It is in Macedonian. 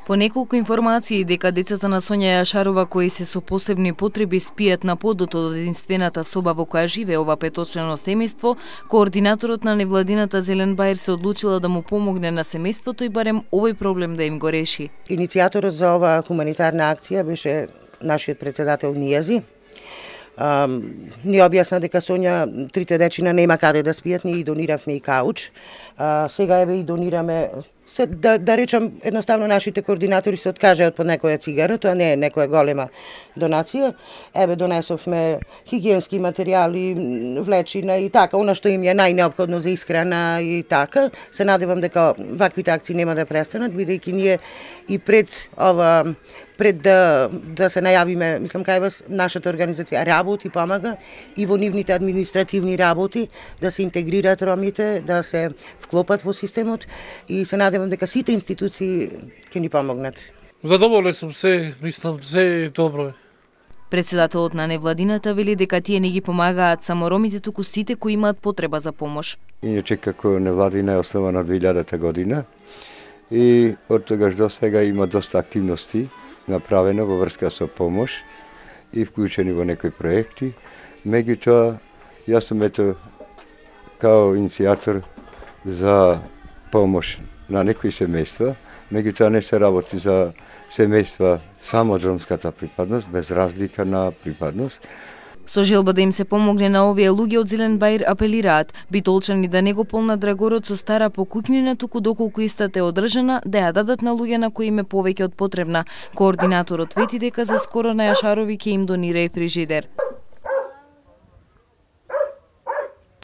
По неколку информации дека децата на Сонја Јашарова кои се со посебни потреби спијат на подот од единствената соба во која живее ова петочлено семејство, координаторот на невладината Зелен Бајер се одлучила да му помогне на семејството и барем овој проблем да им го реши. Иницијаторот за оваа хуманитарна акција беше нашиот председател Нијази. Ни објасна дека Сонја трите дечина нема каде да спијат, ние и дониравме и кауч. Сега еве и донираме да речам едноставно нашите координатори се откажаат по некоја цигара, тоа не е некоја голема донација. Еве донесовме хигиенски материјали, влечина и така, она што им е најнеопходно за исхрана и така. Се надевам дека ваквите акции нема да престанат, бидејќи ние и пред да се најавиме, мислам кај вас, нашата организација работи, помага и во нивните административни работи да се интегрираат ромите, да се вклопат во системот и се надевам дека сите институции ќе ни помогнат. Задоволен сум мислам, се добро. Председателот на невладината вели дека тие не ги помагаат само ромите, туку сите кои имаат потреба за помош. Иначе како невладина е основана 2000 година и од тогаш до сега има доста активности направено во врска со помош и вклучени во некои проекти. Меѓутоа, јас сум као иницијатор за помош на некои семејства, меѓутоа не се работи за семејства само од ромската припадност, без разлика на припадност. Со желба да им се помогне на овие луѓе од Зелен Бајер апелираат битолчани да не го полнат драгорот со стара покукнина, туку доколку истата е одржана, да ја дадат на луѓе на кои им е повеќе од потребна. Координаторот вети дека за скоро на Јашарови ќе им донира и фрижидер.